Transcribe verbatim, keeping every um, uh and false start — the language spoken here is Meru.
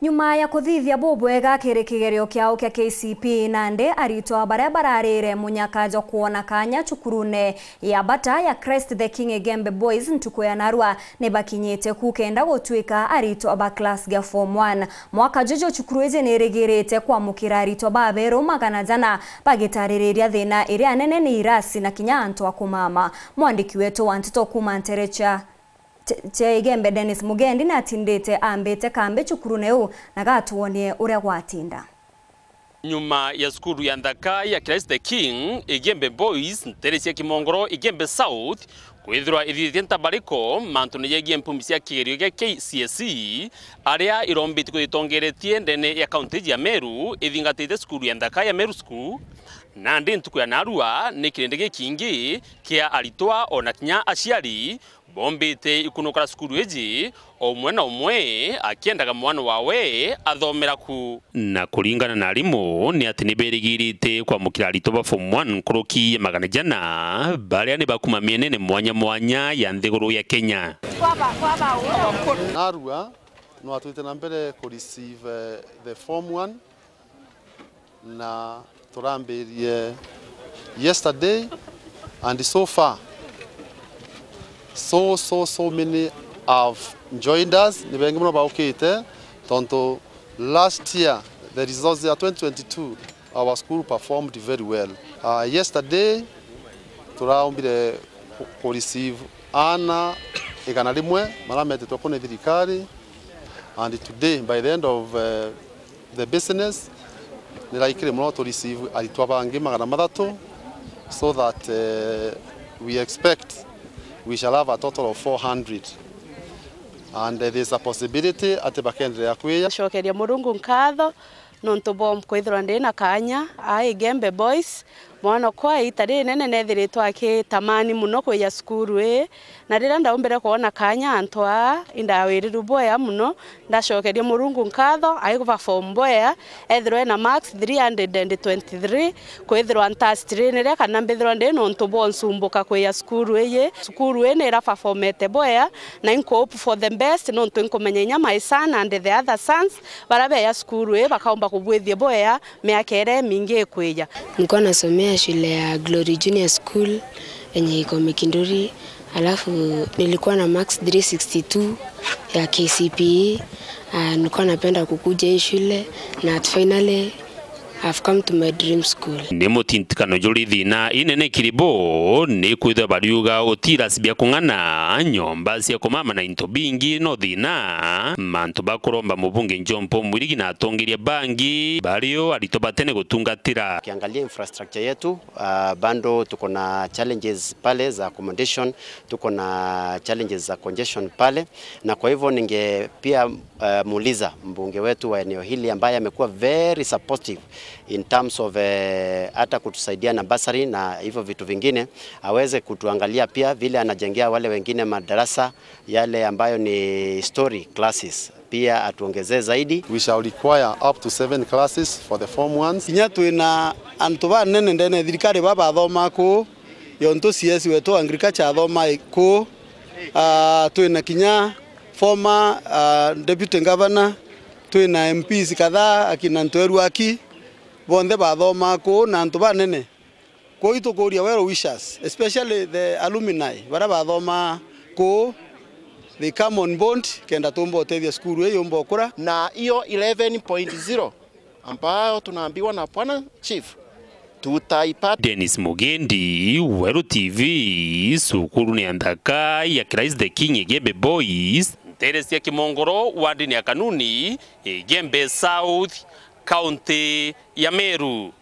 Nyuma ya kuthithia bubwega kiri kigerio kiao kia K C P, nandi aritwa baria bararire munyaka jwa kwona kanya cukurune ya bata ya Christ the King Igembe Boys ntuku ya narua ni bakinyite ku kenda gutwika aritwa ba class ya form one. Mwaka juju cukuru iji ni irigirite kwamukira aritwa baberu magana jana bagitaririria thina iria nene ni irasi na kinya antu a kumama. Mwandiki wetu wa nteto kuma ntere cia cia Igembe Dennis Mugendi natindite ambite kambi cukurune u na gatwonie uria gwatinda. Nyuma ya cukuru ya nthaka ya Christ the King, Igembe Boys, ntere cia Kimongoro, Igembe South, kwithirwa ithithitie ntabariko mantune jegie mpumbi cia kigerio gia K C S E, aria irombiti kwitongeretie ndene ya kaunti ya Meru, ithingatite cukuru ya nthaka ya Meru School, nandi ntuku ya narua ni kirindi gikingi kia aritwa ona kinya aciari bombite ikunukara cukuru iji, o umwe na umwe akiendaga mwana wawe athomera ku. Na kuringana na arimu, ni ati ni berigirite kwamukira aritwa ba form one nkuruki ya magana jana, baria ni bakuma mienene mwanya mwanya ya nthiguru ya Kenya. Narua, no atwite na mbere ku receive, eh, the form one, na turambirie yesterday, and so far, so, so, so many have joined us. Ni bengi muno baukite, tontu last year, the results ya twenty twenty-two, our school performed very well. Uh, yesterday, turaumbire ku, ku receive ana igana rimwe marametetwe ku ni thirikari, and today, by the end of, uh, the business, ni likely muno to receive aritwa bangi magana mathatu, so that, uh, we expect we shall have a total of four hundred, and, uh, there's a possibility ati bakendelea kwija. Cokeria Murungu nkatho nontu bwa kwithirwa ndi na kanya aa Igembe Boys. Mwana okwa ita rinene nethiritwe akitamani muno kwija cukuru ii, na riria ndaumbire kwona kanya antu aa, indawiriru bwea muno. Ndacokeria Murungu nkatho, ai perform bwea, ethirwa ena marks three hundred and twenty-three, kwithirwa ntastirineria kana mbithirwa ndi nontu bwa nsumbuka kwija cukuru iji. Cukuru ii ni ira performete bwea, na inkuhope for the best, nontu inkumenya inya my son and the other sons baria beja cukuru ii bakaumba kubwithia bwea miaka iria imingi ikwija. Nilikuwa nasomea shule ya Glory Junior School yenye iko Mikinduri, alafu nilikuwa na marks three sixty-two ya K C P E. Ah, nilikuwa napenda kukuja hii shule na finally I've come to my dream school. Ni mutintikano juri thina inene kiri bo, ni kwithirwa bariuga utira bia kung'ana, nyomba cia kumama na into bingi no thina. Mantu bakuromba mubunge John Paul Mwirigi na atongeria bangi bario aritwa batene gutungatira. Ukiangalia infrastructure yetu, ah, bado tuko na challenges pale za accommodation, tuko na challenges za congestion pale, na kwa hivyo ninge pia, eh, muuliza mbunge wetu wa eneo hili ambaye amekuwa very supportive in terms of, eh, hata kutusaidia na bursary na hivyo vitu vingine, aweze kutuangalia pia vile anajengea wale wengine madarasa yale ambayo ni story classes, pia atuongezee zaidi. We shall require up to seven classes for the form ones. Kinya twina antu banene ndene ya thirikari babathomaa kuu, yontu C S wetu wa agriculture athomaa kuu. Ah, twina kinya former, ah, deputy governor, twina M Ps kadhaa, akina Ntweru Aki, bonthe bathomaa kuu na antu banene. Kwou itukuria well wishers, especially the alumni baria bathomaa kuu, they come on board kenda tuumba utethia cukuru ii yumba ukura. Na hiyo eleven point zero ambayo tunaambiwa na Bwana Chief, tutaipata. Dennis Mugendi, Weru T V, cukuru ni ya nthaka ya Christ the King Igembe Boys, ntere cia Kimongoro, wardini ya Kanuni, Igembe South, kaunti ya Meru.